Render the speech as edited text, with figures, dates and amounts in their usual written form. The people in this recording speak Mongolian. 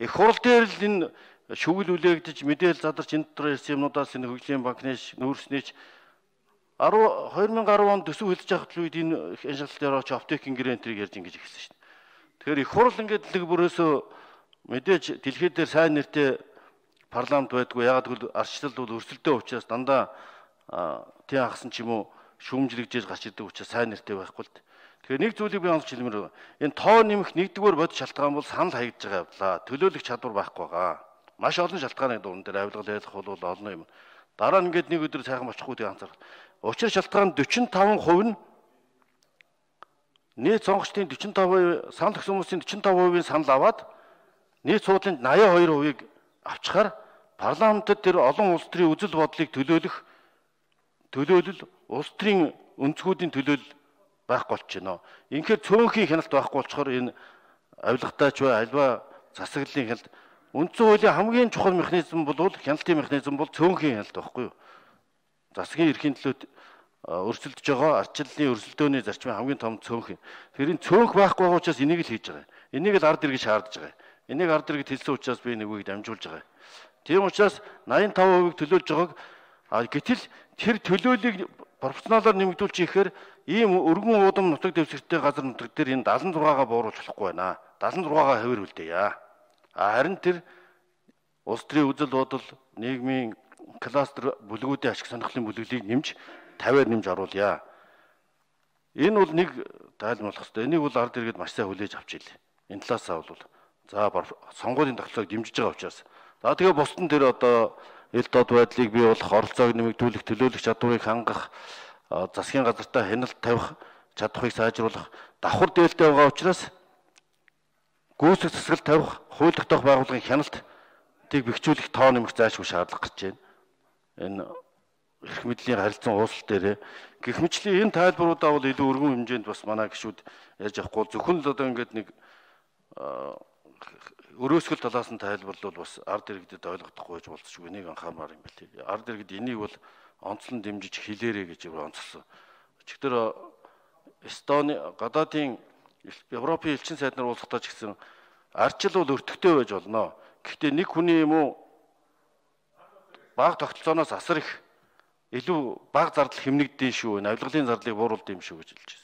Их хурал дээр л энэ шүгэл үлээгдэж мэдээлэл задарч энэ дотор ирсэн юмнуудаас энэ хөгжлийн банкнээс нүүрснээч 2010 онд төсөв хэлж явахд үед энэ шалгалтын орооч аптекийн гэрэнтрийг ярьж ингэж ихсэн шин. Тэгэхээр их хурал ингээд нэг бүрөөсөө мэдээж дэлхий дээр сайн нэртэй парламент байдгүй. Ягаад гэвэл арчлал бол өрсөлдөө учраас дандаа тий хагсан ч юм уу шүүмжлэгжээж гарч ирдэг учраас сайн нэртэй байхгүй л. Тэгэхээр нэг зүйлийг би онцлж хэлмээр байна. Энэ тоо нэмэх нэгдүгээр бодит шалтгаан бол санал хаягдж байгаа явлаа. Төлөөлөх чадвар байхгүй байгаа. Маш олон шалтгааны дунд дээр авилгал ялах бол олон юм. Дараа нь ингээд нэг өдөр сайхан очихгүй тийг анзаарах. Учир шалтгаан 45% нь нийт сонгогчдын 45%, санал өгсөн хүмүүсийн 45%-ийн санал аваад нийт суудлын 82%-ийг авчихаар парламентод тэр олон улс төрийн үзэл бодлыг төлөөлөл улс төрийн өнцгүүдийн төлөөлөл байхгүй болчихно. Инхээр цөөнхийн хяналт байхгүй болчоор энэ авилгатаач бай альва засаглалын хяналт үндсэн хуулийн хамгийн чухал механизм бол хяналтын механизм бол цөөнхийн хяналт байхгүй юу? Засгийн эрхийн төлөө өрсөлдөж байгаа арчлалын өрсөлдөөний зарчмын хамгийн том цөөнх. Тэгэхээр энэ цөөнх байхгүй байгаа учраас энийг л хийж байгаа. Энийг л ард иргэж шаардж байгаа. Энийг ард иргэд хэлсэн учраас би нэгүйг дамжуулж байгаа. Тийм учраас 85%-ийг төлөөлж байгааг гэтэл тэр төлөөллийг пропорционалаар нэмэгдүүлж ихээр ийм өргөн уудам нутаг дэвсгэртэй газар нутаг дээр энэ 76-гаа бууруулж болохгүй байна. 76-гаа хавир үлдээе. Харин тэр улс төрийн үзэл бодол, нийгмийн кластер бүлгүүдийн ашиг сонирхлын бүлэглийг нэмж 50-аар нэмж оруулъя. Энэ бол нэг тайлбарлах хэрэгтэй. Энийг бол ард иргэд маш сайн хүлээж авч ийлээ. Энэ талаасаа бол за сонгуулийн тогтолцоог дэмжиж байгаа учраас. За тэгээ бусдын тэр одоо ил дод байдлыг бий болох, оролцоог нэмэгдүүлэх, төлөөлөх чадварыг хангах, засгийн газартаа хяналт тавих чадварыг сайжруулах давхар дээлтэй байгаа учраас гүйцэтгэх засаглал тавих, хууль тогтоох байгууллагын хяналтыг бэхжүүлэх тоо нэмэх заашгүй шаардлага гарч байна. Энэ эрх мэдлийн харилцан ууслал дээр гэх мэтлэн энэ тайлбаруудаа бол илүү өргөн хэмжээнд бас манай гишүүд ярьж авахгүй зөвхөн л одоо ингээд нэг өрөөсгөл талаас нь тайлбарлал бас ард иргэдэд ойлгохдохгүй байж болцсогүй нэг анхаамаар юм байна. Ард иргэд энийг бол онцлон дэмжиж хэлээрэй гэж онцлсон. Өчигдөр Эстони гадаадын Европын элчин сайд нар уулзахдаа ч гэсэн арчил бол өртөгтэй байж болно. Гэхдээ нэг хүний юм уу бага тогтолцооноос асар их илүү бага зардал хэмнэгдэн шүү. Авилгалын зардлыг бууруулд юм шүү гэж хэлж байна.